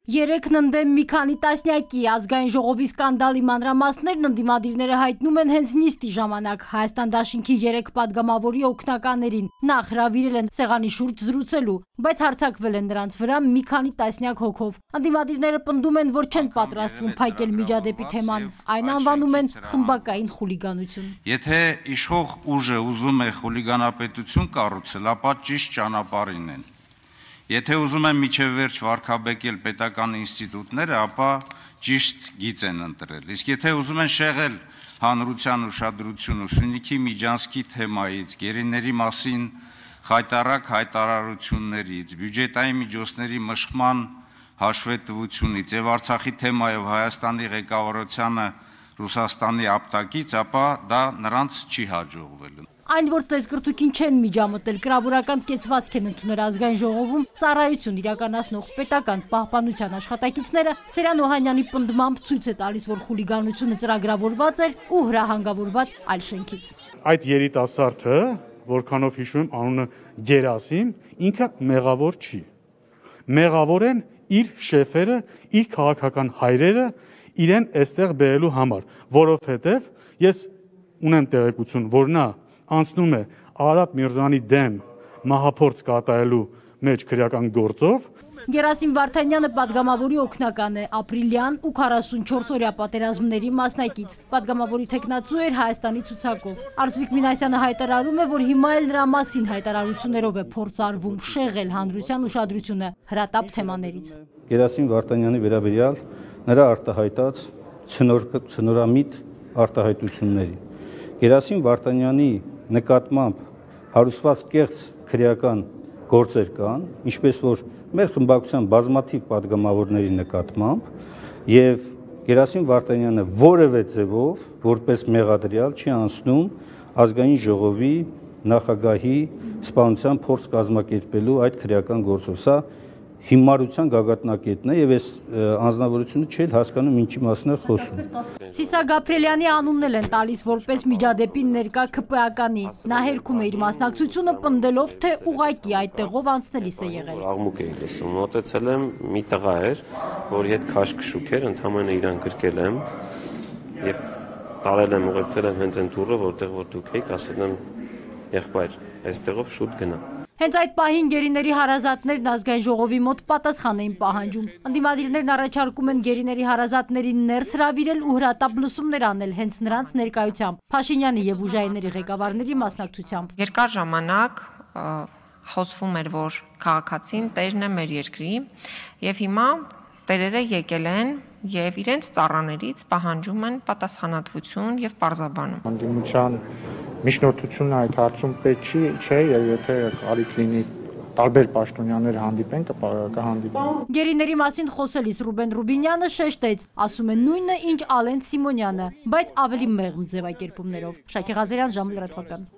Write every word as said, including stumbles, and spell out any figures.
Երեքն ընդդեմ մի քանի տասնյակի ազգային ժողովի սկանդալի մանրամասներն ընդդիմադիրները հայտնում են հենց նիստի ժամանակ Հայաստան դաշինքի երեք պատգամավորի օգնականներին նախ հրավիրել են սեղանի շուրջ զրուցելու, բայց հարձակվել են նրանց վրա մի քանի տասնյակ հոգով։ Ընդդիմադիրները պնդում են, որ չեն պատրաստվում փակել Միջադեպի թեման, այն անվանում են խմբակային խուլիգանություն։ Եթե իշխող ուժը ուզում է խուլիգանապետություն կառուցել, ապա ճիշտ ճանապարհին են։ Եթե ուզում են միջև վերջ վարկաբեկել պետական ինստիտուտները, ապա ճիշտ գիծ են ընտրել։ Իսկ եթե ուզում են շեղել հանրության ուշադրությունը Սյունիքի Միջանցքի թեմայից, գերիների մասին խայտառակ հայտարարություններից, բյուջետային միջոցների մշկման հաշվետվությունից եւ Արցախի թեմայով Հայաստանի ղեկավարությանը Ռուսաստանի ապտակից, ապա դա նրանց չի հաջողվել։ Այն, որ ծեսկրտուկին չեն միջամտել, կրավորական կեցվածք են ընդունել ազգային ժողովում ծառայություն իրականացնող պետական պահպանության աշխատակիցները, Սերան Օհանյանի պնդմամբ ցույց է տալիս, որ խուլիգանությունը ծրագրավորված էր ու հրահանգավորված այլ շենքից։ Այդ երիտասարդը, որքանով հիշում եմ, անունը Գերասիմ, ինքը մեղավոր չի։ Մեղավոր են իր շեֆերը, իր քաղաքական հայրերը իրեն այստեղ բերելու համար, որովհետև ես ունեմ տեղեկություն, որ նա անցնում է Արաբ Միրզոյանի դեմ մահափորձ կատարելու մեջ քրեական գործով։ Գերասիմ Վարդանյանը պատգամավորի օգնական է, ապրիլյան ու քառասունչորս օրյա պատերազմների մասնակից։ Պատգամավորի թեկնածու էր Հայաստանի ցուցակով։ Արծվիկ Մինասյանը հայտարարում է, որ հիմա էլ նրա մասին հայտարարություններով է փորձարվում շեղել հանրության ուշադրությունը հրատապ թեմաներից։ Գերասիմ Վարդանյանի վերաբերյալ նրա արտահայտած ցնորամիտ արտահայտություններին։ Գերասիմ Վարդանյանի նկատմամբ հարուցված կեղծ քրեական գործեր կան, ինչպես որ մեր խմբակցության բազմաթիվ պատգամավորների նկատմամբ, եւ Գերասիմ Վարդանյանը որևէ ձևով որպես մեղադրյալ չի անցնում ազգային ժողովի նախագահի սպանության փորձ կազմակերպելու այդ քրեական գործով։ Սա հիմարության գագաթնակետն է եւ այս անձնավորությունը չէ հասկանում ինչի մասին է խոսում։ Սիսա Գաբրելյանի անունն էլ են տալիս որպես Միջադեպի ներկա ՔՊԱ-կանի։ Նա հերքում է իր մասնակցությունը պնդելով, թե ուղղակի այդտեղով անցնելիս է եղել։ Աղմուկ էի լսում, մոտեցել եմ, մի տղա էր, որի հետ քաշքշուկ էր, ընդհանրապես իրան գրկել եմ եւ տարել եմ, ուղեկցել եմ հենց այն դուռը, որտեղ որ դուք եք, ասել եմ, եղբայր, այստեղով շուտ գնա։ Հենց այդ պահին գերիների հարազատներն ազգային ժողովի մոտ պատասխան էին պահանջում։ Ընդդիմադիրներն առաջարկում են գերիների հարազատներին ներս հրավիրել ու հրատապ լսումներ անել հենց նրանց ներկայությամբ, Փաշինյանի եւ ուժայինների ղեկավարների մասնակցությամբ։ Երկար ժամանակ խոսվում էր, որ քաղաքացին տերն է մեր երկրի, եւ հիմա տերերը եկել են եւ իրենց ծառաներից պահանջում են պատասխանատվություն եւ պարզաբանում։ Ընդդիմության միջնորդությունը այդ հարցում պետք չի, չէ, եւ եթե կարիք լինի տարբեր պաշտոնյաներ հանդիպեն, կհանդիպեն։ Գերիների մասին խոսելիս Ռուբեն Ռուբինյանը շեշտեց, ասում է նույնը, ինչ Ալեն Սիմոնյանը, բայց ավելի մեղմ ձևակերպումներով։ Շակե Ղազարյան, Ժամը լրատվական։